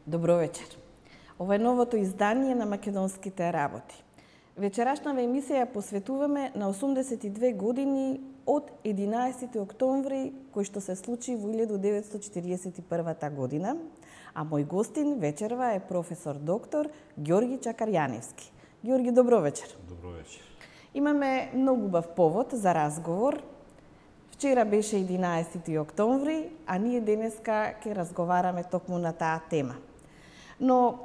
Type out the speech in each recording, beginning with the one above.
Добро вечер. Ова е новото издание на Македонските работи. Вечерашнава емисија ја посветуваме на 82 години од 11. октомври, кој што се случи во 1941 година, а мој гостин вечерва е професор доктор Ѓорги Чакарјаневски. Ѓорги, добро вечер. Добро вечер. Имаме многу убав повод за разговор. Вчера беше 11. октомври, а ние денеска ќе разговараме токму на таа тема. Но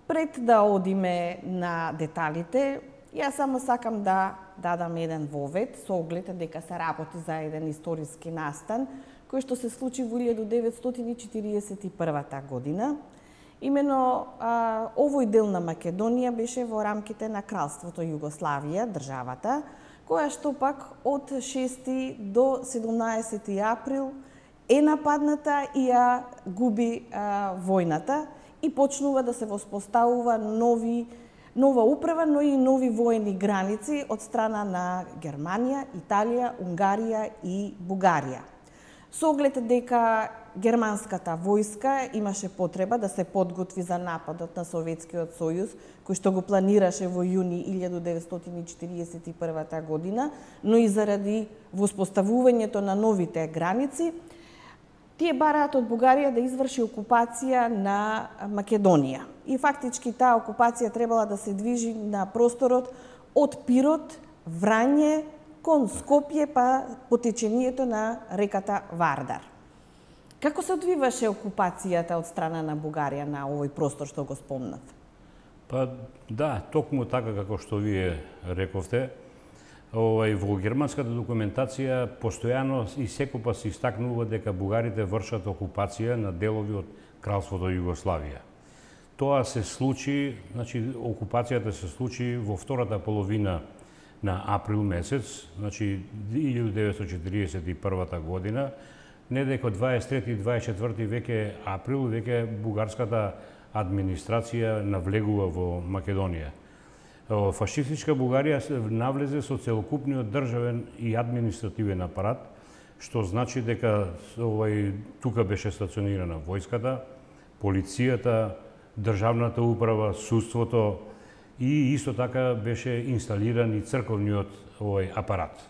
пред да одиме на деталите, јас само сакам да дадам еден вовед со оглед дека се работи за еден историски настан кој што се случи во 1941 година. Имено овој дел на Македонија беше во рамките на Кралството Југославија, државата, која што пак од 6 до 17 април е нападната и ја губи војната и почнува да се воспоставува нова управа, но и нови воени граници од страна на Германија, Италија, Унгарија и Бугарија. Со оглед дека германската војска имаше потреба да се подготви за нападот на Советскиот сојуз, кој што го планираше во јуни 1941 година, но и заради воспоставувањето на новите граници, тие бараат од Бугарија да изврши окупација на Македонија. И фактички таа окупација требала да се движи на просторот од Пирот, Врање, кон Скопје, па по течението на реката Вардар. Како се одвиваше окупацијата од страна на Бугарија на овој простор што го спомнав? Па да, токму така како што вие рековте, во германската документација постојано и секогаш се истакнува дека бугарите вршат окупација на делови од Кралството Југославија. Тоа се случи, окупацијата се случи во втората половина на април месец, 1941 година, не дека 23 и 24 веќе април, веќе бугарската администрација навлегува во Македонија. Фашистичка Бугарија навлезе со целокупниот државен и административен апарат, што значи дека тука беше стационирана војската, полицијата, државната управа, судството и исто така беше инсталиран и црковниот апарат.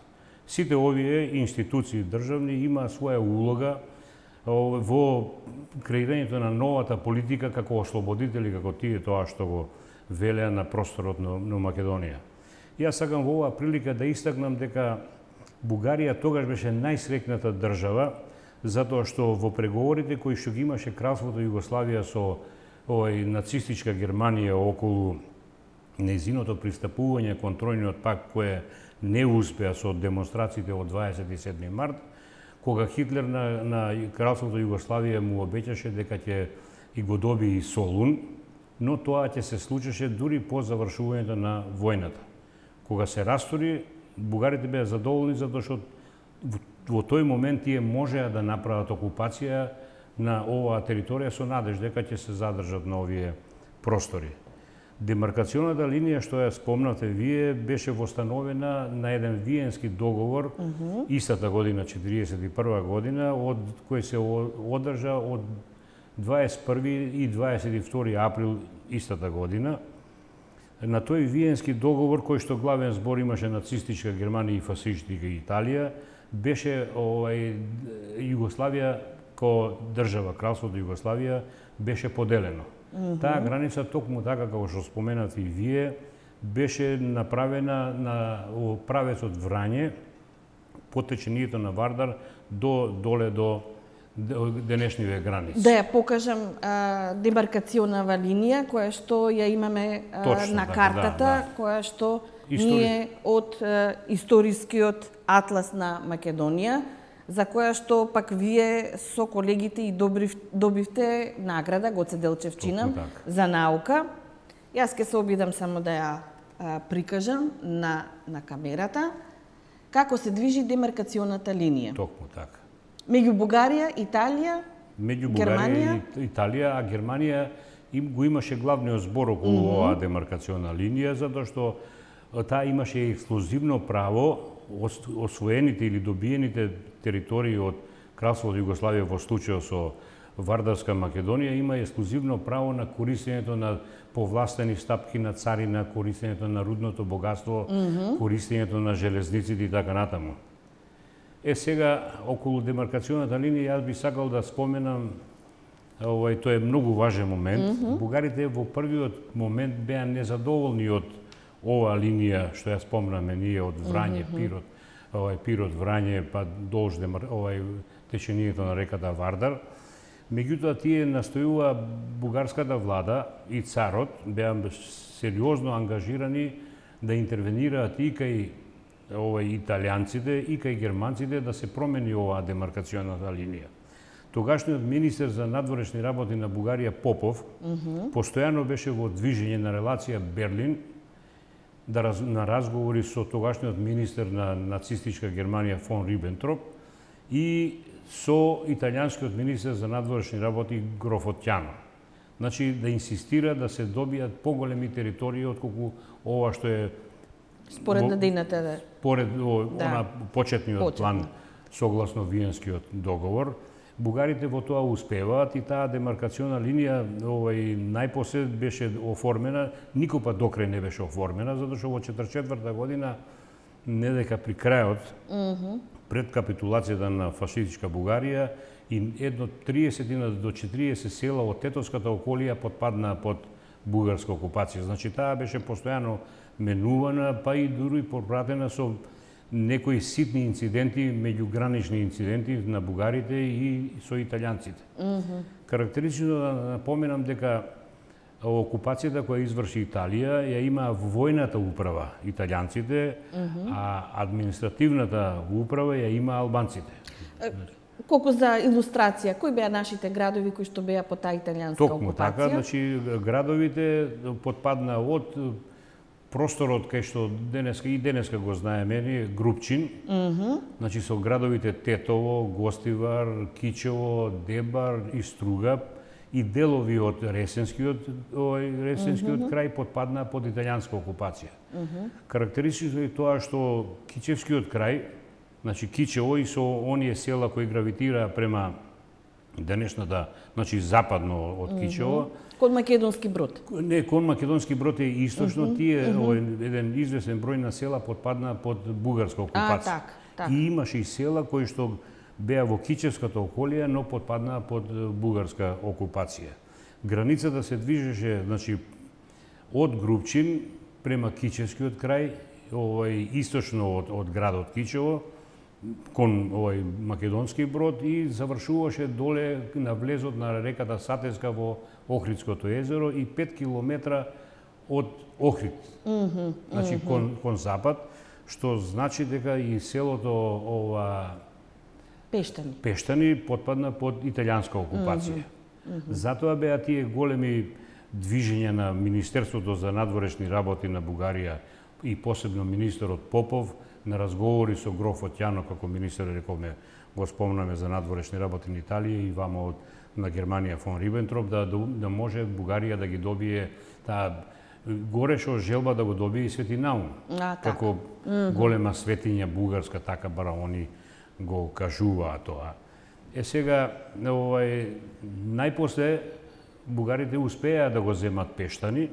Сите овие институции државни има своја улога во креирањето на новата политика како ослободители, како тие тоа што го велеа на просторот на Македонија. Јас сакам во оваа прилика да истакнам дека Бугарија тогаш беше најсрекната држава, затоа што во преговорите кои што ги имаше Кралството Југославија со нацистичка Германија околу нејзиното пристапување кон Тројниот пакт, кое не успеа со демонстрациите од 27 март, кога Хитлер на Кралството Југославија му обеќаше дека ќе и го доби и Солун, но тоа ќе се случеше дури по завршувањето на војната. Кога се растори, бугарите беа задоволни затоа што во тој момент тие можеа да направат окупација на оваа територија со надеж дека ќе се задржат на овие простори. Демаркационата линија што ја спомнавте вие беше востановена на еден виенски договор истата година, 1941 година, од кој се одржа од 21 и 22 април истата година. На тој виенски договор, кој што главен збор имаше нацистичка Германија и фашистичка Италија, беше Југославија како држава, Кралството Југославија, беше поделено. Таа граница, токму така како што споменати и вие, беше направена на правецот Врање, по течението на Вардар, доле до денешниве граници. Да ја покажам демаркационава линија, која што ја имаме на картата, која што ние од историскиот атлас на Македонија, за која што пак вие со колегите и добивте награда Гоце Делчевчина за наука. Јас ќе се обидам само да ја прикажам на камерата како се движи демаркационата линија. Токму така. Меѓу Бугарија, Италија, Германија и Италија, а Германија го имаше главниот збор околу оваа демаркациона линија, затоа што таа имаше ексклузивно право освоените или добиените територии од Кралството Југославија во случајот со Вардарска Македонија има ексклузивно право на користењето на повластени стапки на царина, користењето на рудното богатство, користењето на железниците и така натаму. Сега, околу демаркационата линија, јас би сакал да споменам, тој е многу важен момент. Бугарите во првиот момент беа незадоволни од оваа линија, што ја спомнаме ние од Врање, Пирот, Пирот, Врање, па долж течението на реката Вардар. Меѓутоа, тие настојува бугарската влада и царот беа сериозно ангажирани да интервенираат и кај италијанците и кај германците да се промени оваа демаркационата линија. Тогашниот министер за надворешни работи на Бугарија Попов постојано беше во движење на релација Берлин на разговори со тогашниот министер на нацистичка Германија фон Рибентроп и со италијанскиот министер за надворешни работи Грофотјано. Значи, да инсистира да се добијат поголеми територии отколку ова што е според надејната според почетниот план согласно Виенскиот договор. Бугарите во тоа успеваат и таа демаркациона линија најпосле беше оформена, никој па докрај не беше оформена, затоа што во 1944 година, не дека при крајот, пред капитулацијата на фашистичка Бугарија, и едно 30 до 40 села од Тетовската околија потпадна под бугарска окупација. Значи, таа беше постојано менувана, па и дури попратена со некои ситни инциденти, меѓугранични инциденти на бугарите и со италијанците. Карактеристично да напоменам дека окупацијата која изврши Италија ја има војната управа италијанците, а административната управа ја има албанците. Колку за илустрација, кои беа нашите градови кои што беа под таа италијанска окупација? Токму така, значи градовите потпадна од просторот кај што денеска го знаеме, Групчин, значи со градовите Тетово, Гостивар, Кичево, Дебар и Струга и делови од Ресенскиот крај потпадна под италијанска окупација. Карактеристично е тоа што Кичевскиот крај, значи Кичево и со оние села кои гравитира према денешната, значи западно од Кичево, кон Македонски Брод. Не, кон Македонски Брод е источно, тие еден известен број на села потпадна под бугарска окупација. И имаше и села кои што беа во Кичевската околија, но потпадна под бугарска окупација. Границата се движеше, значи, од Групчин према Кичевскиот крај, источно од градот Кичево, кон Македонски Брод и завршуваше доле на влезот на реката Сатеска во Охридското езеро и 5 километра од Охрид, значи кон запад, што значи дека и селото Пештани потпадна под италијанска окупација. Затоа беа тие големи движења на Министерството за надворешни работи на Бугарија и посебно министерот Попов на разговори со Грофотјано како министер, рековме, го спомнаме за надворешни работи на Италија и вама на Германија фон Рибентроп, да може Бугарија да ги добие таа гореше желба да го добие и Свети Наум. Како голема светиња бугарска, така бара они го кажуваа тоа. Сега, најпосле бугарите успеа да го земат Пештани,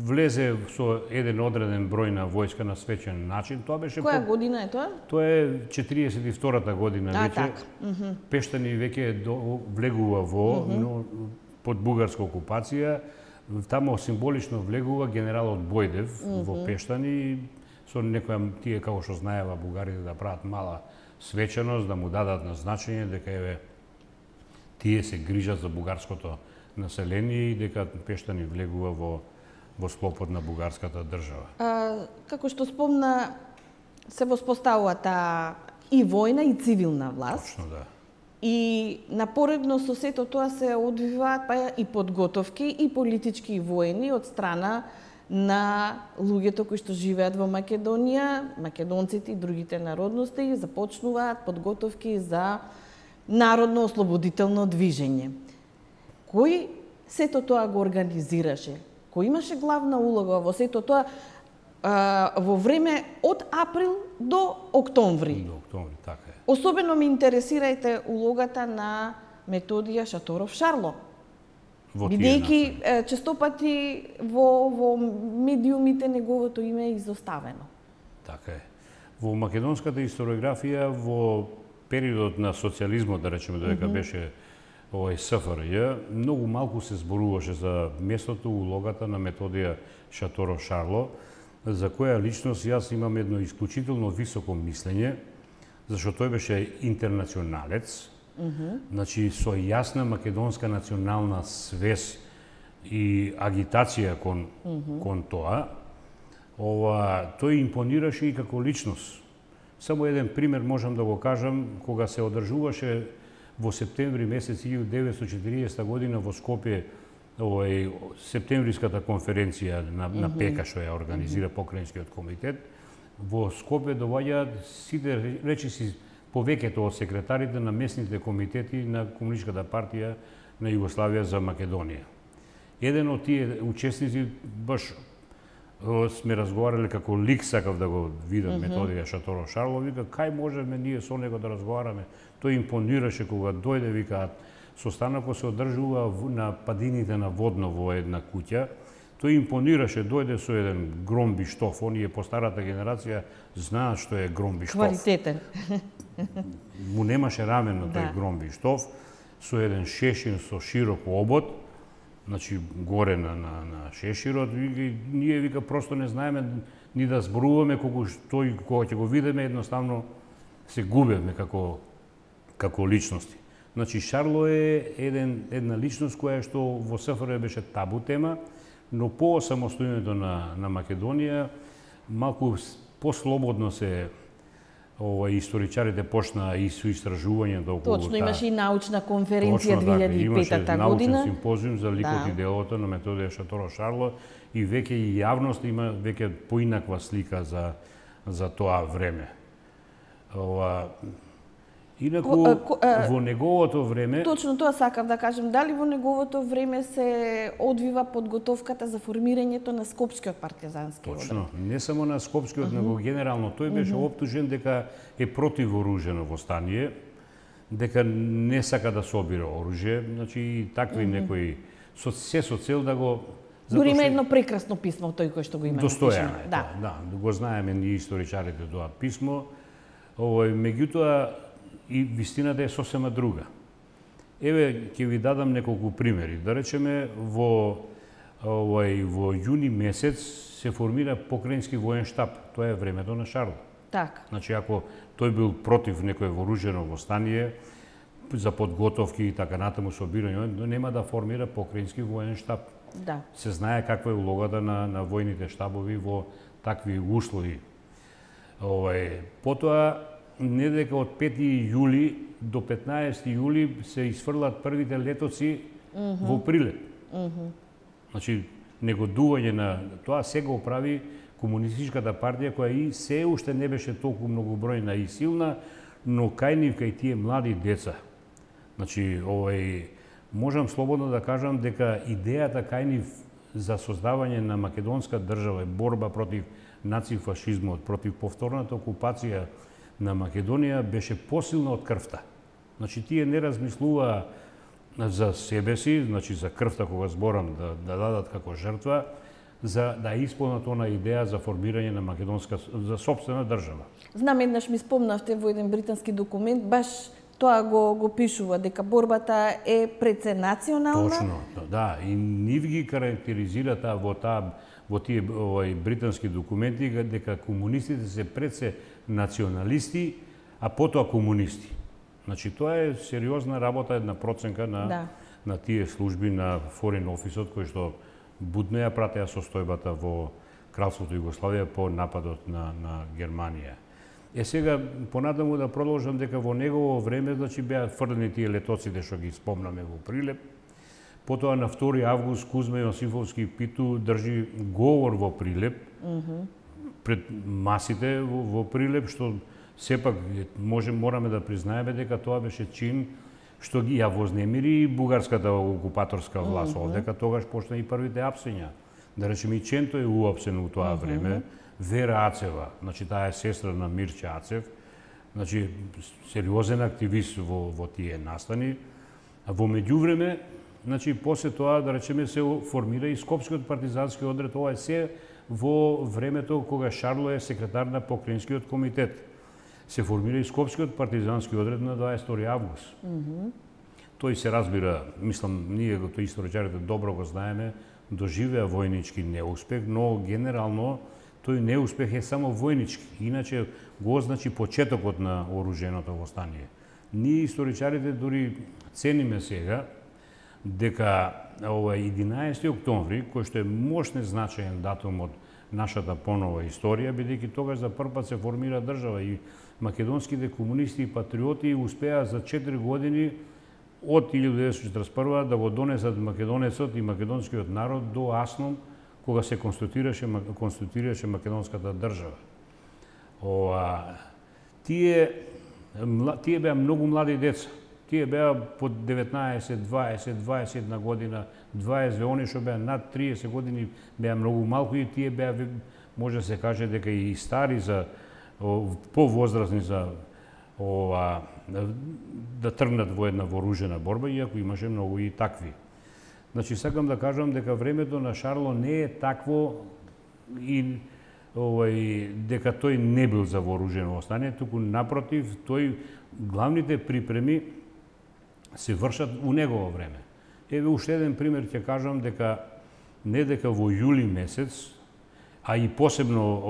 влезе со еден одреден број на војска на свечен начин. Тоа беше Која година е тоа? Тоа е 42-та година веќе. Пештани веќе влегува под бугарска окупација. Тамо символично влегува генералот Бојдев во Пештани со некоја тие како што знаева бугарите да прават мала свеченост, да му дадат на значење дека тие се грижат за бугарското население и дека Пештани влегува во склопот на бугарската држава. Како што спомна, се воспоставува таа и војна и цивилна власт. Точно, да. И напоредно со сето тоа се одвиваат па и подготовки и политички и војни од страна на луѓето кои што живеат во Македонија, македонците и другите народности, започнуваат подготовки за народно ослободително движење. Кој сето тоа го организираше? Кој имаше главна улога во сето тоа во време од април до октомври? До октомври, така е. Особено ми интересирајте улогата на Методија Шаторов Шарло. Бидејќи честопати во медиумите неговото име е изоставено. Така е. Во македонската историографија во периодот на социјализмот, да речеме, додека беше СФРЈ, многу малку се зборуваше за местото, улогата на Методија Шаторов Шарло, за која личност јас имам едно исклучително високо мислење, зашто тој беше интернационалец, значи со јасна македонска национална свес и агитација кон тоа. Тој импонираше и како личност. Само еден пример можам да го кажам, кога се одржуваше во септември месец 1940 година во Скопје септемвриската конференција на ПЕКА, што ја организира Покрајинскиот комитет. Во Скопје доаѓаат сите речиси повеќето од секретарите на местните комитети на Комунистичката партија на Југославија за Македонија. Еден од тие учесници, баш сме разговарале како лик, сакав да го видам Методија Шаторов Шарло, вика, кај можеме ние со него да разговараме? Тој импонираше кога дојде, вика, состанокот се одржува на падините на Водно во една куќа. Тој импонираше, дојде со еден гром биштов. Оние по старата генерација знаат што е гром биштов. Квалитетен. Му немаше рамен на тој гром биштов, со еден шешир со широк обод, значи горе на шеширот. Ние, вика, просто не знаеме ни да зборуваме, колку тој, кога ќе го видиме, едноставно се губеме како личности. Значи, Шарло е една личност која што во СФР беше табу тема, но по самостојањето на Македонија малку послободно се историчарите почна и со истражувањето околу Точно, имаше и научна конференција 2005 година. Научен симпозиум за ликот и делото на Методија Шаторов Шарло и веќе и јавност има веќе поинаква слика за тоа време. Инаку, во неговото време... Точно тоа сакав да кажем. Дали во неговото време се одвива подготовката за формирањето на Скопскиот партизански одред? Точно. Не само на Скопскиот, него генерално. Тој беше оптужен дека е против вооружено востание, дека не сака да собира оружје, значи и такви некои... Се со цел да го... Дури има едно прекрасно писмо, тој кој што го има. Достојано е тоа, да. Го знаеме ние историчарите тоа писмо. Меѓутоа, и вистината е сосема друга. Еве, ќе ви дадам неколку примери. Да речеме, во јуни месец се формира покрајински воен штаб. Тоа е времето на Шарло. Така. Значи, ако тој бил против некое вооружено востание, за подготовки и така натаму собирање, нема да формира покрајински воен штаб. Да. Се знае каква е улогата на војните штабови во такви услови. Потоа, не дека од 5 јули до 15 јули се изфрлат првите летоци во Прилеп. Значи, негодување на тоа се го прави Комунистичката партија, која и се уште не беше толку многобројна и силна, но кај нив, кај тие млади деца. Значи, можам слободно да кажам дека идејата кај нив за создавање на македонска држава, борба против нацифашизмот, против повторната окупација на Македонија беше посилна од крвта. Значи, тие не размислуваа за себе си, значи за крвта кога зборам да дадат како жртва, за да исполнат она идеја за формирање на македонска, за сопствена држава. Знам, еднаш ми спомнавте во еден британски документ, баш тоа го пишува, дека борбата е пред се национална. Точно, да, и нив ги карактеризира во тие британски документи дека комунистите се пред се националисти, а потоа комунисти. Значи, тоа е сериозна работа, една проценка на тие служби на Foreign Office-от, кои што будно ја пратеа состојбата во Кралството Југославија по нападот на Германија. Сега, понатаму да продолжам дека во негово време, значи, беа фрлени тие летоците што ги спомнаме во Прилеп. Потоа на 2 август Кузма Јосифовски Питу држи говор во Прилеп, пред масите во Прилеп, што сепак мораме да признаеме дека тоа беше чин што ги ја вознемири бугарската окупаторска власт овдека, тогаш почна и првите апсења. Да речеме, и Ченто е уапсен у тоа време, Вера Ацева, значи таа е сестра на Мирче Ацев, Значи, сериозен активист во тие настани. А во меѓувреме, значи, после тоа, да речеме, се формира и Скопскиот партизански одред. Ова е се во времето кога Шарло е секретар на Покраинскиот комитет. Се формира и Скопскиот партизански одред на 22 август. Тој се разбира, мислам, ние тој историчарите добро го знаеме, доживеа војнички неуспех, но генерално тој неуспех е само војнички, иначе го означи почетокот на оруженото востание. Ние историчарите дури цениме сега дека 11 октомври, кој што е мощен значаен датум од нашата понова историја, бидејќи тогаш за прв пат се формира држава и македонските комунисти и патриоти успеа за 4 години од 1941 да го донесат македонецот и македонскиот народ до Аснон, кога се конституираше македонската држава. Тие беа многу млади деца. Тие беа под 19, 20, 21 година, 22, они што беа над 30 години беа многу малку и тие беа, може да се каже дека и стари за повозрастни за да тргнат во една вооружена борба, иако имаше многу и такви. Значи, сакам да кажам дека времето на Шарло не е такво и дека тој не бил за вооружено востание, туку напротив, главните припреми се вршат у негово време. Еве уште еден пример ќе кажам дека не дека во јули месец, а и посебно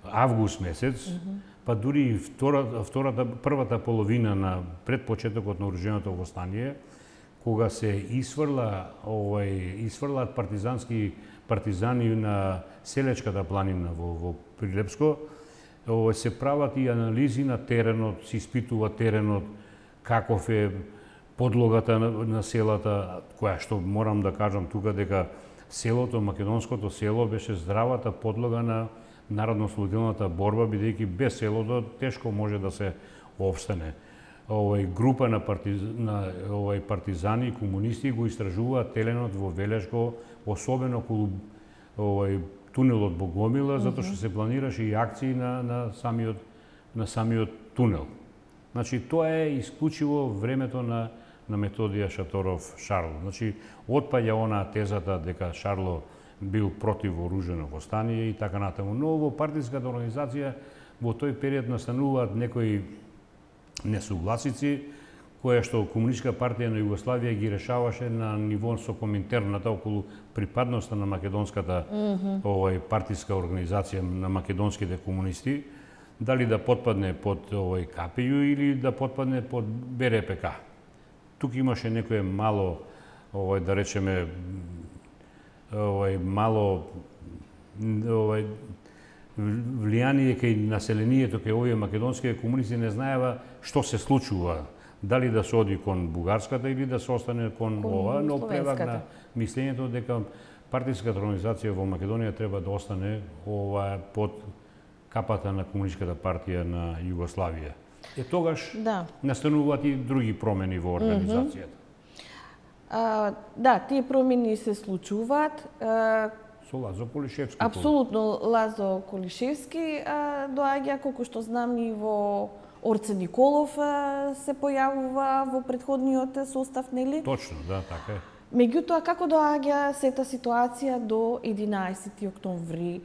август месец, па дури и првата половина на пред почетокот на оруженото востание, кога се исфрлаат партизани на Селечката планина во Прилепско, се прават и анализи на теренот, се испитува теренот, каков е подлогата на селата, која што морам да кажам тука дека селото, македонското село беше здравата подлога на народно-ослободителната борба, бидејќи без селото тешко може да се опстане. Група на партизани и комунисти го истражуваат теренот во Велешко, особено околу тунелот Богомила, затоа што се планираше и акции на самиот тунел. Значи, тоа е исклучиво времето на Методија Шаторов Шарло. Значи, отпаѓа онаа тезата дека Шарло бил против вооружено востание и така натаму. Но во партиската организација во тој период настануваат некои несугласици, која што Комунистичка партија на Југославија ги решаваше на ниво со Коминтерната околу припадноста на македонската партиска организација на македонските комунисти, дали да потпадне под КПЈ или да потпадне под БРПК. Тук имаше некое мало, да речеме, мало влијание кај населението, кај овие македонските комунисти не знаева што се случува, дали да се оди кон бугарската или да се остане кон ова, но превагна мислењето дека партиската организација во Македонија треба да остане под капата на Комунистичката партија на Југославија. Тогаш настануваат и други промени во организацијата. Да, тие промени се случуваат. Со Лазо Колишевски. Апсолутно, Лазо Колишевски доаѓа, колку што знам, и во Орце Николов се појавува во претходниот состав, нели? Точно, да, така е. Меѓутоа, како доаѓа сета ситуација до 11 октомври?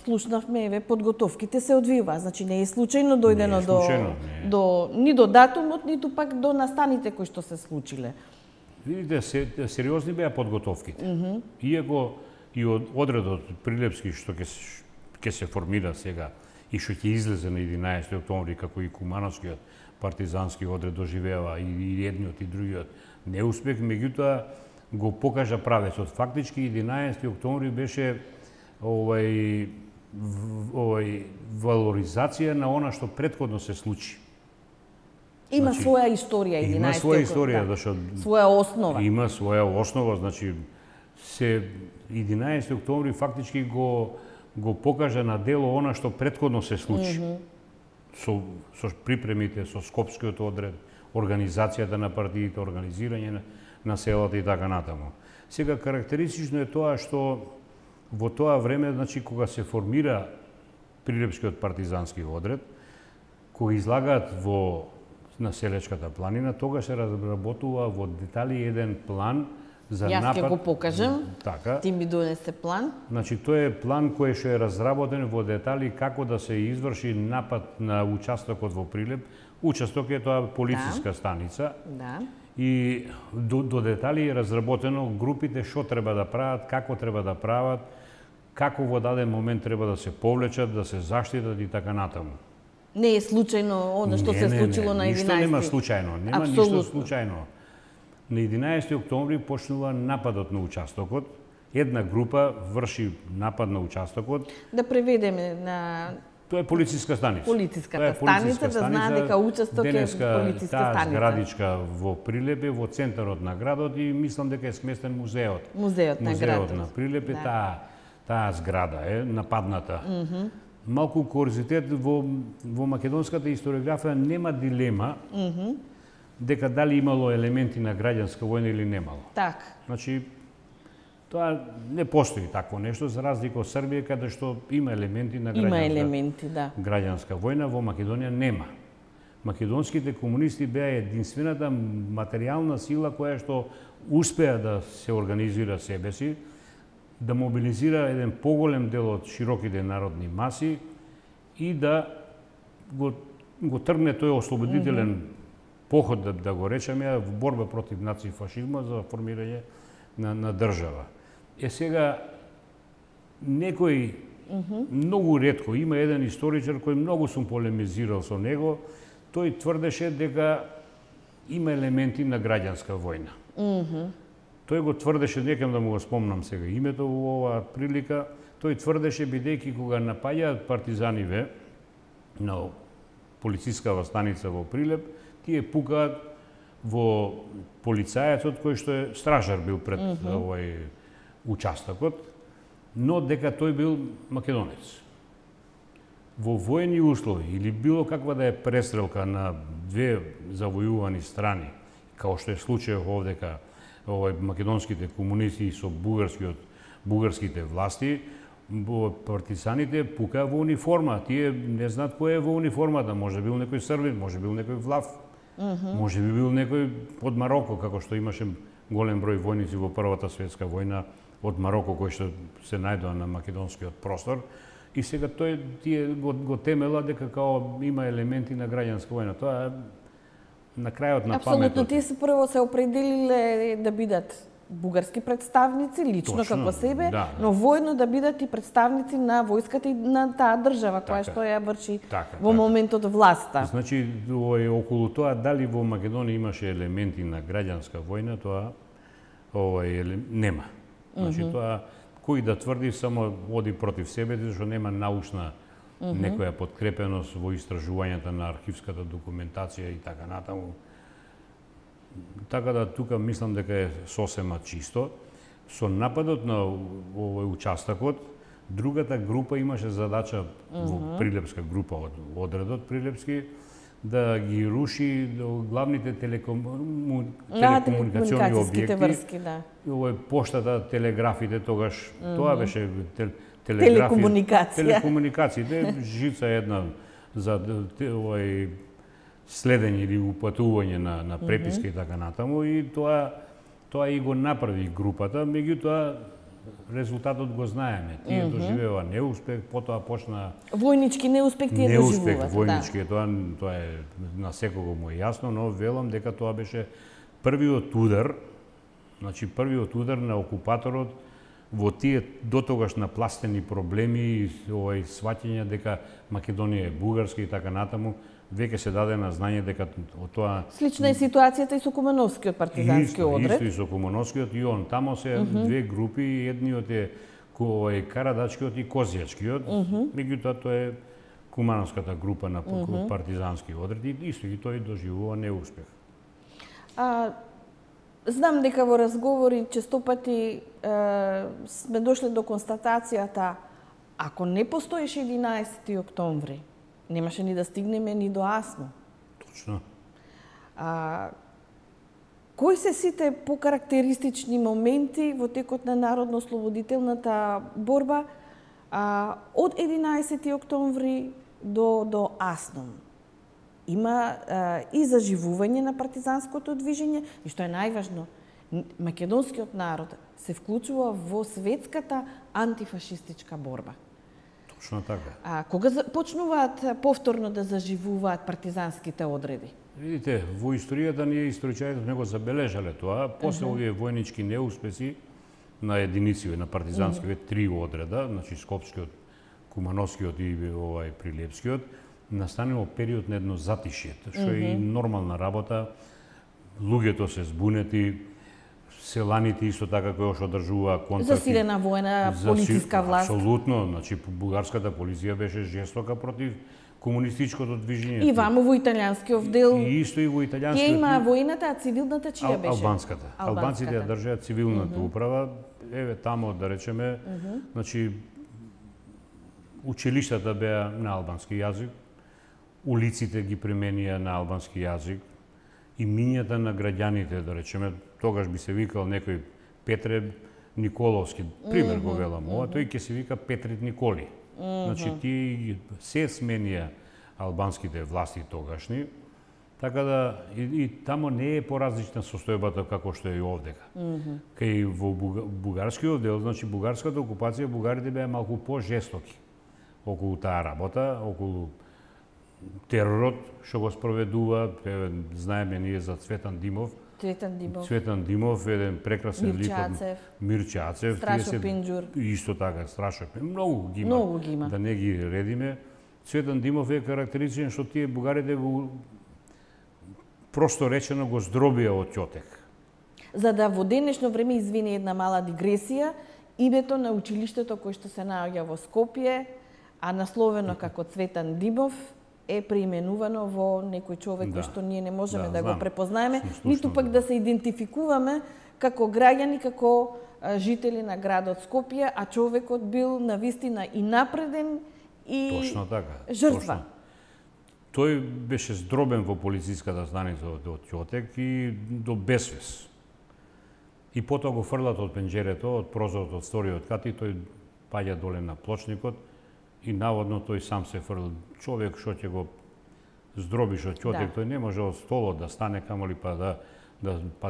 Слушнавме, еве, подготовките се одвива, значи не е случајно дојдено ни до датумот, ниту пак до настаните кои што се случиле. Видите, сериозни беа подготовките. Иако и од одредот Прилепски што ќе се формира сега и што ќе излезе на 11 октомври, како и Кумановскиот партизански одред доживева и едниот и другиот неуспех, меѓутоа го покажа правецот. Фактички 11 октомври беше валоризација на она што претходно се случи. Има своја историја 11 октомври. Има своја историја, зашто своја основа. Има своја основа, значи 11 октомври фактички го покажа на дело она што претходно се случи. Со припремите, со Скопскиот одред, организацијата на партиите, организирање на селата и така натаму. Сега карактеристично е тоа што во тоа време, значи кога се формира Прилепскиот партизански одред, кои излагаат во населечката планина, тогаш се разработува во детали еден план за Јас напад. ќе го покажам. Така. Ти ми донесе план. Значи, тој е план кој што е разработен во детали како да се изврши напад на участокот во Прилеп. Участок е тоа полициска станица. Да. И до детали е разработено групите што треба да прават, како треба да прават, како во даден момент треба да се повлечат, да се заштитат и така натаму. Не е случајно она што се случило на 11. Ништо нема случајно, нема Апсолутно. ништо случајно. На 11 октомври почнува нападот на участокот. Една група врши напад на участокот. Да преведеме на Тоа е полициска станица. полициската станица, да знаат дека участок е полициска таа станица. зградичка во Прилеп е во центарот на градот и мислам дека е сместен музеот. Музеот на градот. Музеот на Прилеп е Да. таа зграда е нападната. Малку курозитет во македонската историографија нема дилема дека дали имало елементи на граѓанска војна или немало. Така. Значи, тоа не постои такво нешто, за разлика од Србија, каде што има елементи на Има граѓанска, елементи, да. граѓанска војна, во Македонија нема. Македонските комунисти беа единствената материјална сила која што успеа да се организира себе си, да мобилизира еден поголем дел од широките народни маси и да го тргне тој ослободителен поход, да го речеме, во борба против нацифашизма за формирање на држава. Сега, некој многу ретко, има еден историчар кој многу сум полемизирал со него, тој тврдеше дека има елементи на граѓанска војна. Тој го тврдеше, некам да му го спомнам сега името во оваа прилика, тој тврдеше бидејќи кога напаѓаат партизаниве на полицискава станица во Прилеп, тие пукаат во полицајецот кој што е стражар бил пред овој участокот, но дека тој бил македонец. Во војни услови или било каква да е престрелка на две завојувани страни, као што е случајот овдека македонските комунисти со бугарските власти, партизаните пукаа во униформа. Тие не знаат кој е во униформата, може бил некој србин, може бил некој влав, може би бил некој од Мароко, како што имаше голем број војници во Првата светска војна од Мароко кои што се најдоа на македонскиот простор. И сега тие го темела дека као има елементи на граѓанска војна. Тоа е на крајот на паметот. Апсолутно, тие се прво се определиле да бидат бугарски представници, лично Точно, како себе, да. но војно да бидат и представници на војската и на таа држава која Така, што ја врши така, во моментот власта. Значи, околу тоа дали во Македонија имаше елементи на граѓанска војна, тоа нема. Значи, тоа кој да тврди само оди против себе, зашто нема научна некоја подкрепеност во истражувањата на архивската документација и така натаму. Така да тука мислам дека е сосема чисто. Со нападот на овој участокот, другата група имаше задача во Прилепска група од одредот Прилепски да ги руши главните телекомуникациони објекти. врски, да. Овој поштата, телеграфите тогаш, тоа беше телекомуникациите, жица една за овој следење или упатување на преписки и така натаму, и тоа и го направи групата, меѓутоа резултатот го знаеме. Тие доживеа неуспех, потоа почна Војнички неуспех тие неуспех доживуваат. војнички, тоа е на секого му е јасно, но велам дека тоа беше првиот удар, значи првиот удар на окупаторот во тие дотогаш напластени проблеми и овој сваќање дека Македонија е бугарска и така натаму, веќе се даде на знање дека од тоа Слична е ситуацијата и со Кумановскиот партизански одред. Исто и со Кумановскиот и он. Тамо се две групи, едниот е Карадачкиот и Козијачкиот, меѓутоа тоа е Кумановската група на партизански одред и исто и тој доживува неуспех. Знам дека во разговори честопати сме дошле до констатацијата, ако не постоеше 11 октомври, немаше ни да стигнеме ни до Асно. Точно. Кои се сите покарактеристични моменти во текот на народно-ослободителната борба од 11 октомври до Аснон? има и заживување на партизанското движење и што е најважно, македонскиот народ се вклучува во светската антифашистичка борба. Точно така. Кога почнуваат повторно да заживуваат партизанските одреди? Видите, во историјата ние историчарите не го забележале тоа, после овие војнички неуспеси на единици на партизанските три одреда, значи Скопскиот, Кумановскиот и Прилепскиот, настанало период на едно затишје, што е и нормална работа. Луѓето се збунети, селаните исто така кои што одржуваа контакти. Засилена војна полициска власт. Апсолутно, значи бугарската полиција беше жестока против комунистичкото движење. И ваму во италијанскиот дел. И исто и во италијанскиот. Тие има војната, а цивилната чија беше? Албанската. Албанците ја држаат цивилната управа. Еве тамо да речеме, значи училиштата беа на албански јазик, улиците ги применија на албански јазик, имињата на граѓаните, да речеме, тогаш би се викал некој Петре Николовски, пример го велам ова, тој ќе се вика Петрит Николи. Значи тие се сменија албанските власти тогашни, така да и тамо не е поразлична состојбата како што е и овдека. Кај во бугарскиот дел, значи бугарската окупација, бугарите беа малку по-жестоки околу таа работа, околу теророт што го спроведува, знаеме ние за Цветан Димов. Цветан Димов, еден прекрасен лик. Мирче Ацев. Страшо Пинџур. Исто така, Страшо Пинџур. Многу ги има. Да не ги редиме. Цветан Димов е карактеристичен што тие бугарите го просто речено го здробија од Ќотек. За да во денешно време, извини една мала дигресија, името на училиштето кој што се наоѓа во Скопје, а насловено како Цветан Димов, е преименувано во некој човек кој што ние не можеме да го препознаеме, ниту пак да се идентификуваме како граѓани, како жители на градот Скопје, а човекот бил навистина и напреден и точно така, жртва. Точно. Тој беше здробен во полициската станица од Ќотек и до безвес. И потоа го фрлат од пенџерето, од прозорот од вториот кат и тој паѓа доле на плочникот и наводно тој сам се фрл. Човек што ќе го здробиш од Ќотек, тој не може од столот да стане, камоли па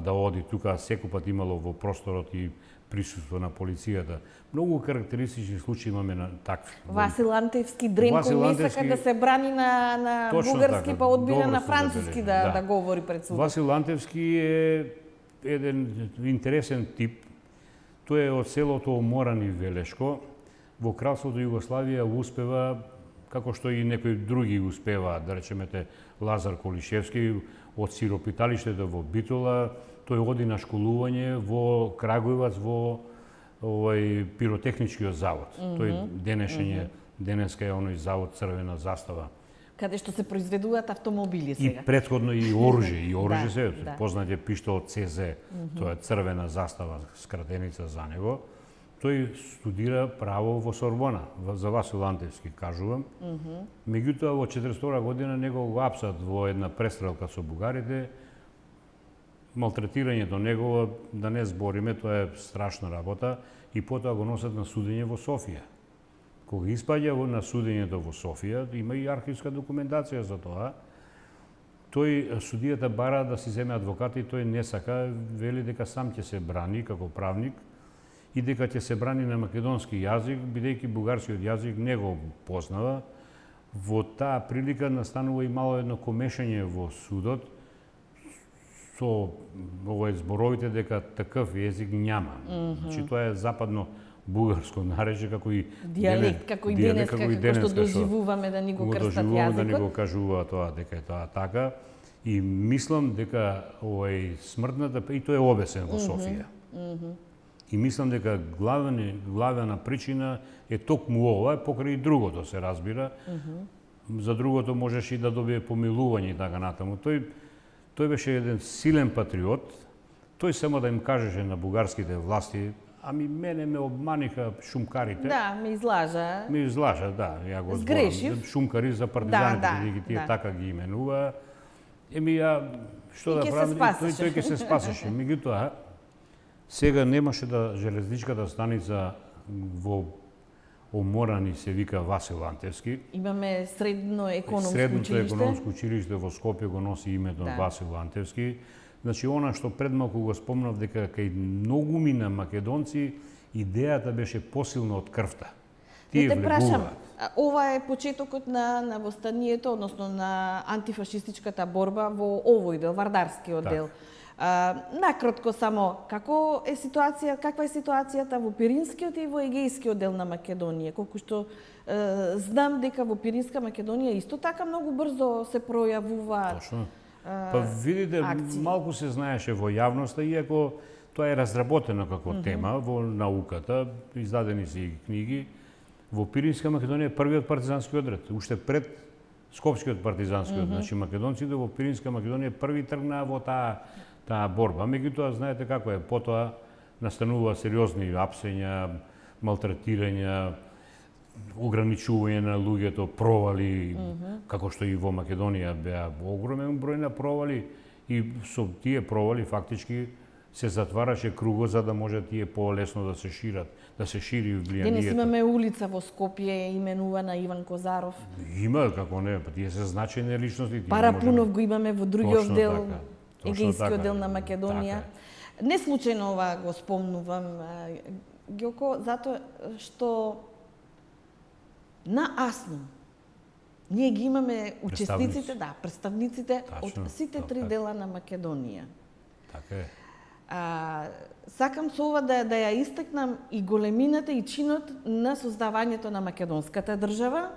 да оди тука, секој имало во просторот и присуство на полицијата. Многу карактеристични случаи имаме на такви. Васил Антевски Дренко не сака да се брани на бугарски, така, па одбира на француски да говори пред судот. Васил Антевски е еден интересен тип. Тој е од селото Оморани Велешко. Во Кралството Југославија успева, како што и некои други успеваат, да речемете Лазар Колишевски, од сиропиталиштето во Битола, тој оди на школување во Крагуевац во пиротехничкиот завод. Тој денеска е оној завод Црвена застава. Каде што се произведуваат автомобили сега. И претходно и оружје се, познат е пиштолот ЦЗ, тоа е Црвена застава, скратеница за него. Тој студира право во Сорбона, за Васил Антевски, кажувам. Меѓутоа, во 42 година него го апсат во една престрелка со бугарите. Малтретирањето негово, да не збориме, тоа е страшна работа, и потоа го носат на судење во Софија. Кога испаѓа на судењето во Софија, има и архивска документација за тоа, тој судијата бара да си земе адвокат и тој не сака, вели дека сам ќе се брани како правник, и дека ќе се брани на македонски јазик, бидејќи бугарскиот јазик не го познава. Во таа прилика настанува и мало едно комешање во судот со зборовите дека таков јазик няма. Значи тоа е западно бугарско наречје како и дијалект, како и денеска, како што доживуваме да ни го крстат јазикот. Да ни го кажува тоа дека е тоа така. И мислам дека смртната, и тоа е обесен во Софија. И мислам дека главна причина е токму ова, покрај и другото се разбира. За другото можеш и да добие помилување и така натаму. Тој беше еден силен патриот. Тој само да им кажеше на бугарските власти: ами мене ме обманиха шумкарите. Да, ме излажа. Ме излажа, да, ја го зборам. Шумкари за партизаните, бидејќи тие така ги именува. Што да правам? Тој ќе се спасеше. Меѓутоа, сега немаше железничката станица во Оморани се вика Васил Антевски. Имаме средното Средното економско економско училиште во Скопје го носи името на Васил Антевски. Значи, она што пред малку го спомнав, дека кај многуми на македонци идејата беше посилна од крвта. Тие влегуваат. Ова е почетокот на востанието, односно на антифашистичката борба во овој дел, Вардарскиот дел. Накратко само, каква е ситуацијата во Пиринскиот и во Егејскиот дел на Македонија? Колку што знам дека во Пиринска Македонија исто така многу брзо се пројавуваат. Точно. Па видите, малку се знаеше во јавноста, иако тоа е разработено како тема во науката, издадени се и книги. Во Пиринска Македонија е првиот партизански одред, уште пред Скопскиот партизански одред. Значи, македонците во Пиринска Македонија први тргнаа во таа борба. Меѓутоа, знаете како е, потоа настанува сериозни апсења, малтретирања, ограничување на луѓето, провали, како што и во Македонија беа огромен број на провали, и со тие провали фактички се затвараше кругот за да може тие полесно да се шират, да се шири влијанието. Денес имаме улица во Скопје именувана Иван Козаров. Има, како не, па тие се значајни личности. Парапунов го имаме во другиот дел, Егејскиот дел на Македонија. Не случајно ова го спомнувам, Ѓоко, затоа што на АСНО ние ги имаме учесниците, представниците од сите три дела на Македонија. Така е. Сакам со ова да ја истакнам и големината и чинот на создавањето на македонската држава.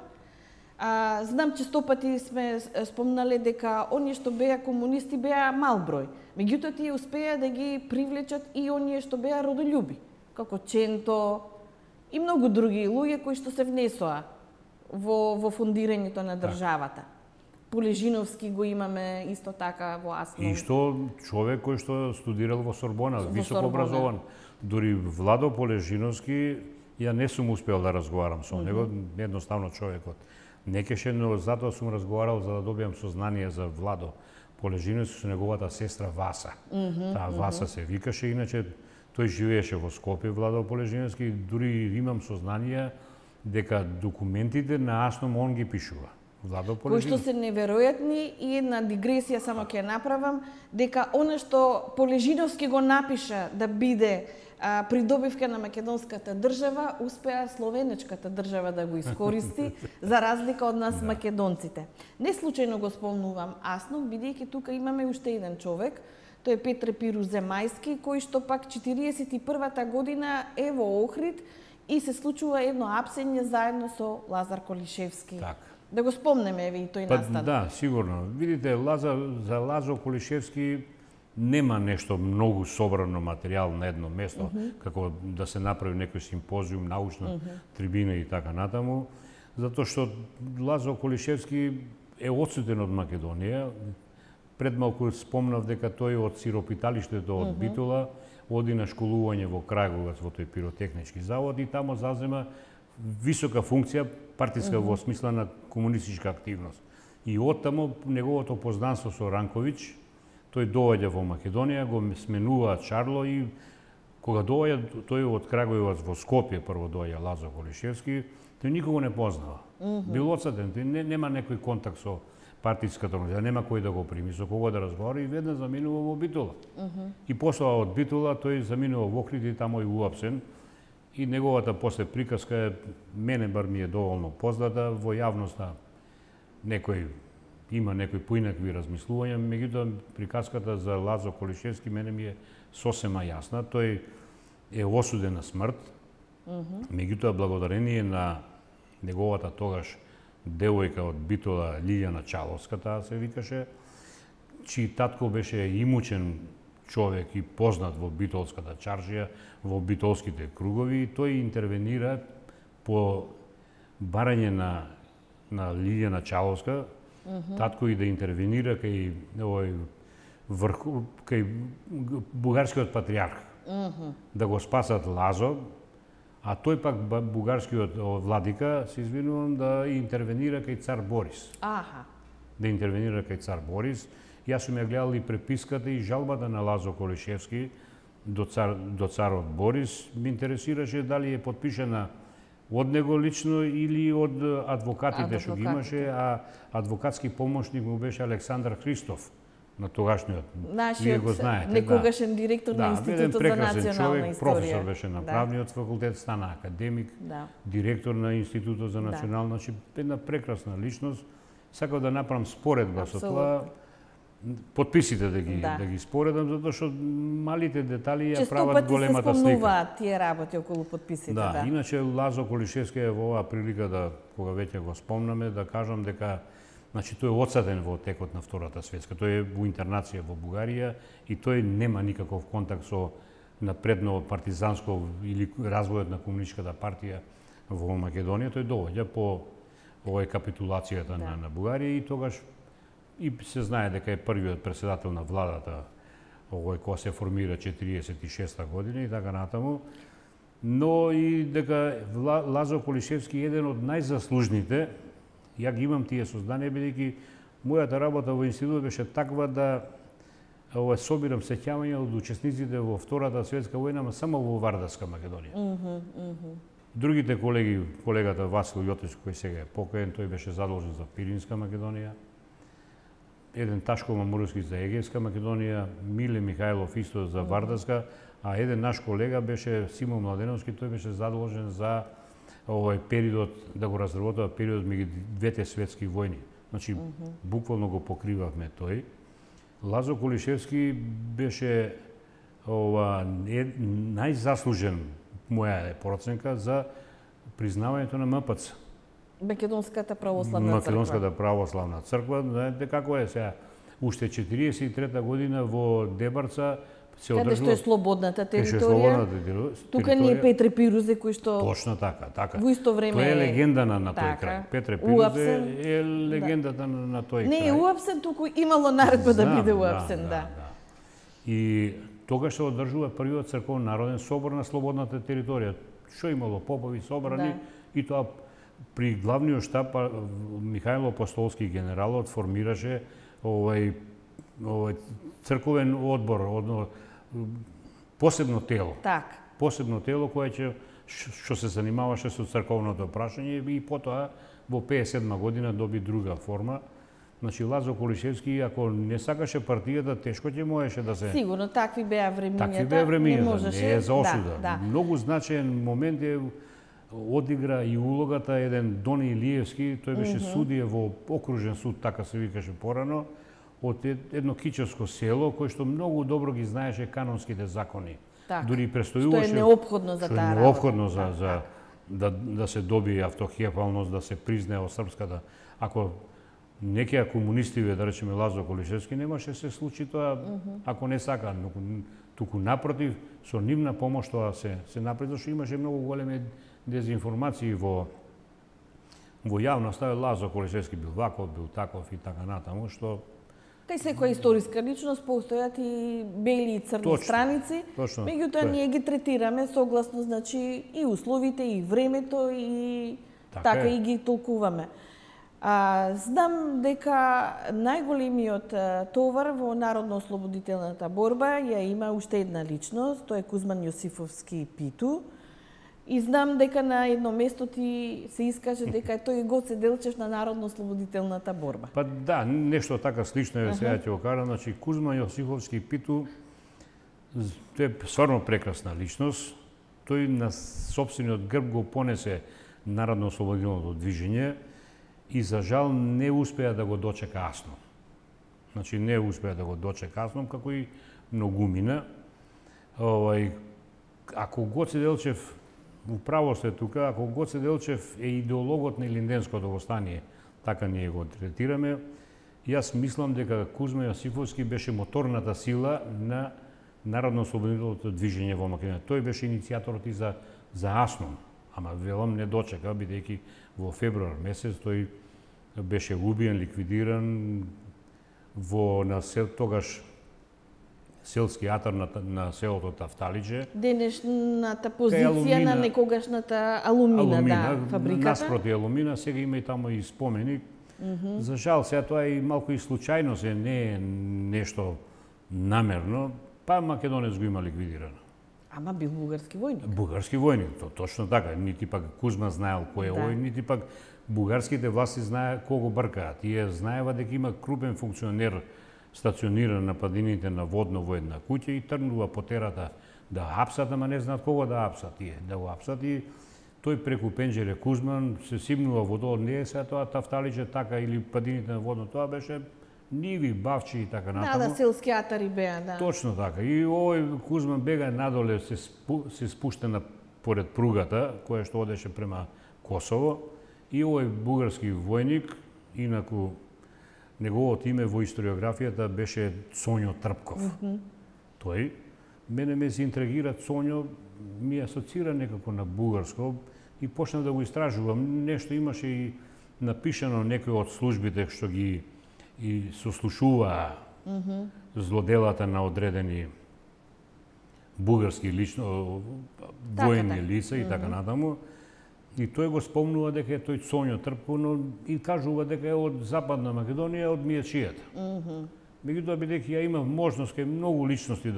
Знам че 100 пати сме спомнале дека оние што беа комунисти беа мал број. Меѓутоа тие успеа да ги привлечат и оние што беа родолюби, како Ченто и многу други луѓе кои што се внесоа во фундирањето на државата. Полежиновски го имаме исто така во АСНО. И што човек кој што студирал во Сорбона, високо образован. Дури Владо Полежиновски, ја не сум успел да разговарам со него, едноставно човекот не кеше, но затоа сум разговарал за да добиам сознание за Владо Полежиновски со неговата сестра Васа. Таа Васа се викаше, иначе тој живееше во Скопје, Владо Полежиновски, дури имам сознание дека документите на АСНО он ги пишува. Кои што се неверојатни, и една дигресија само ќе направам, дека она што Полежиновски го напиша да биде придобивка на македонската држава, успеа словенечката држава да го искористи, за разлика од нас македонците. Не случајно го спомнувам АСНО, бидејќи тука имаме уште еден човек, тој е Петре Пиру Земајски, кој што пак 41-та година е во Охрид и се случува едно апсење заедно со Лазар Колишевски. Да го спомнеме, еве, и тој настан. Да, сигурно. Видите, за Лазо Колишевски нема нешто многу собрано материјал на едно место, како да се направи некој симпозиум, научна трибина и така натаму, затоа што Лазо Колишевски е одсутен од Македонија. Пред малку спомнав дека тој од сиропиталиштето од Битола оди на школување во Крајговец во тој пиротехнички завод и тамо зазема висока функција, партиска во смисла на комунистичка активност. И оттаму неговото познанство со Ранковиќ, тој доаѓа во Македонија, го сменува Чарло и кога доаѓа тој од Крајговец во Скопје, прво доаѓа Лазо Колишевски, тој никого не познава. Бил одсаден, нема некој контакт со партиската организација, нема кој да го прими, со кого да разговара и веднаш заминува во Битола. И после од Битола тој заминува во Охрид и тамо и уапсен. И неговата после приказка, мене бар ми е доволно позната, во јавноста има некои поинакви размислувања, меѓутоа приказката за Лазо Колишевски мене ми е сосема јасна. Тој е осуден на смрт, меѓутоа благодарение на неговата тогаш девојка од Битола, Лилјана Чаловска, таа се викаше, чиј татко беше имучен човек и познат во битолската чаршија, во битолските кругови, и тој интервенира по барање на Лилјана Чаловска, татко и да интервенира кај бугарскиот патриарх, да го спасат Лазо, а тој пак бугарскиот владика, се извинувам, да интервенира кај цар Борис. Да интервенира кај цар Борис. Јас сум ја гледал и преписката и жалбата на Лазо Колишевски до царот Борис. Ме интересираше дали е подпишена од него лично или од адвокатите што ги имаше, а адвокатски помошник му беше Александар Христов на тогашниот. Вие го знаете. Некогашен директор на Институтот за национална човек, историја. професор беше на правниот факултет, стана академик, директор на Институтот за национална, значи една прекрасна личност. Сакав да направам споредба со тоа. Потписите да ги споредам, затоа што малите детали ја прават големата слика. Често пати се спомнуваат тие работи околу потписите. Да, иначе Лазо Колишевски е во оваа прилика да, кога веќе го спомнаме, да кажам дека значи тој е одсаден во текот на Втората светска. Тој е во интернација во Бугарија и тој нема никаков контакт со напредно партизанско или развојот на комунистичката партија во Македонија. Тој доаѓа по овој капитулацијата на Бугарија и тогаш и се знае дека е првиот претседател на владата овој која се формира 46-та година и така натаму. Но и дека Лазо Колишевски е еден од најзаслужните. Ја ги имам тие сознанија, бидејќи мојата работа во институтот беше таква да собирам сеќавања од учесниците во Втората светска војна, ама само во Вардарска Македонија. Другите колеги, колегата Васил Јотич, кој сега е покоен, тој беше задолжен за Пиринска Македонија. Еден Ташко Мамуровски за Егејска Македонија, Миле Михајлов исто за Вардарска, а еден наш колега беше Симон Младеновски, тој беше задолжен за овој период, да го разработува период меѓу двете светски војни. Значи, буквално го покривавме тој. Лазо Колишевски беше најзаслужен, моја проценка, за признавањето на МПЦ. Македонската православна црква. Македонската православна црква, знаете како е сега. Уште 43-та година во Дебарца се одржува... Каде што е слободната територија. Тука не е Петре Пирузе кој што... Точно така. Во исто време тоа е легенда на тој крај. Петре Пирузе е легендата на тој крај. Не е уапсен, туку имало наредба да биде уапсен, И тогаш се одржува првиот црковен народен собор на слободната територија. Што имало попови собрани и тоа при главниот штаб Михајло Апостолски генералот формираше овој црковен одбор, посебно тело. Посебно тело кое што се занимаваше со црковното прашање и потоа во 57 година доби друга форма. Значи Лазо Колишевски, ако не сакаше партијата, тешко ќе можеше да се... Сигурно, такви беа времињата. Такви беа времињата, не е за осуда. Многу значаен момент е одигра и улогата еден Дони Илиевски, тој беше судија во окружен суд, така се викаше порано, од едно кичевско село кој што многу добро ги знаеше канонските закони. Дури престојуваше... Што е неопходно за таа работа. Неопходно за да се добие автокефалност, да се признае од српската. Ако некоја комунистиве, да речеме Лазо Колишевски, немаше се случи тоа ако не сака, туку напротив, со нивна помош тоа се направи, зашто имаше многу големи дезинформации во јавноста. Лазо Колишевски бил ваков, бил таков и така натаму, што... Кај секоја историска личност постојат и бели и црни страници, меѓутоа ние ги третираме согласно, значи, и условите, и времето, и така и ги толкуваме. Знам дека најголемиот товар во народно-ослободителната борба ја има уште една личност, тоа е Кузман Јосифовски Питу. И знам дека на едно место ти се искаже дека тој Гоце Делчев на народно-ослободителната борба. Па да, нешто така слично е, сега ќе го кажам. Значи, Кузман Јосифовски Питу, тој е стварно прекрасна личност. Тој на сопствениот грб го понесе народно-ослободителното движење и за жал не успеа да го дочека Асно. Значи не успеа да го дочека Асно, како и многумина. Ако Гоце Делчев, управо сте тука, ако Гоце Делчев е идеологот на Илинденското востание, така ние го третираме, јас мислам дека Кузма Јосифовски беше моторната сила на народно-ослободителното движење во Македонија. Тој беше иницијаторот и за Асно, ама велам не дочека, бидејќи во февруар месец тој беше убиен, ликвидиран во тогаш селски атар на селото Тафталиџе. Денешната позиција на некогашната Алумина, фабриката. Наспроти Алумина, сега има и тамо и споменик. За жал, сега тоа е малку и случајно, не е нешто намерно, па Македонец го има ликвидирано. Ама бил бугарски војник. Бугарски војник, точно така. Нити пак Кузма знаел кој е овој, нити пак бугарските власти знае кого бркаат. Тие знаева дека има крупен функционер стациониран на падините на Водно во една куќа и тргнува по терата да апсат, ама не знаат кого да апсат тие. Да го апсат и тој преку пенџере Кузман се симнува во долу, не е сега тоа тафталиче така или падините на Водно, тоа беше ниви, бавчи и така натаму. Да, селски атари беа, да. Точно така. И овој Кузман бега надоле, се спушта поред пругата, која што одеше према Косово, и овој бугарски војник, инаку неговото име во историографијата беше Цонјо Трпков. Тој, мене ме се интригира Цонјо, ми асоцира некако на бугарско и почнав да го истражувам. Нешто имаше и напишано некои од службите што ги и сослушуваа злоделата на одредени бугарски воени лица и така натаму. И тој го спомнува дека е тој Цонјо Трпков, но и кажува дека е од Западна Македонија, од Мијачијата. Меѓутоа, бидејќи ја имав можност кај многу личности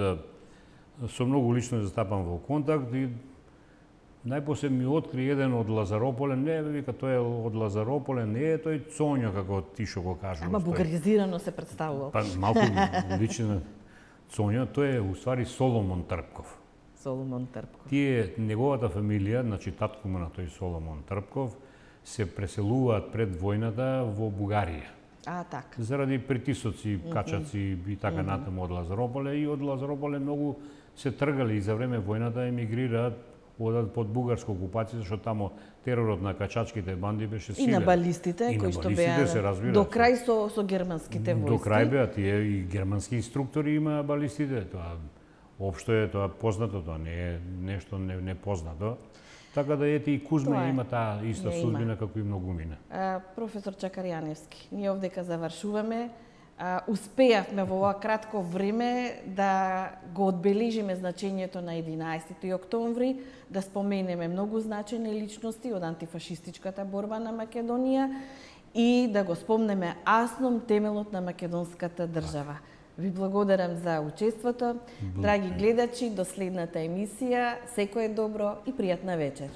со многу личности да стапам во контакт и најпосле ми откри еден од Лазарополе, не, вика, тој е од Лазарополе, не е тој Цонјо, како ти што го кажуваш. Ама бугаризирано се представувал. Па малку лично Цонјо, тој е уствари Соломон Трпков. Соломон Трпков. Тие, неговата фамилија, значи татко му на тој Соломон Трпков, се преселуваат пред војната во Бугарија. Така. Заради притисоци, качаци и така натаму од Лазарополе, и од Лазарополе многу се тргали и за време војната емигрираат, одат под бугарска окупација, што тамо теророт на качачките банди беше силен. И на балистите, кои што беа до крај со германските војски. До крај беа тие и германски инструктори имаа балистите, тоа општо е тоа познато, тоа не е нешто непознато. Така да ете и Кузма има таа иста судбина како и многумина. Професор Чакарјаневски, ние овдека завршуваме. Успеавме во ова кратко време да го одбележиме значењето на 11 октомври, да споменеме многу значајни личности од антифашистичката борба на Македонија и да го спомнеме Асном, темелот на македонската држава. Ви благодарам за учеството. Драги гледачи, до следната емисија. Секое добро и пријатна вечер.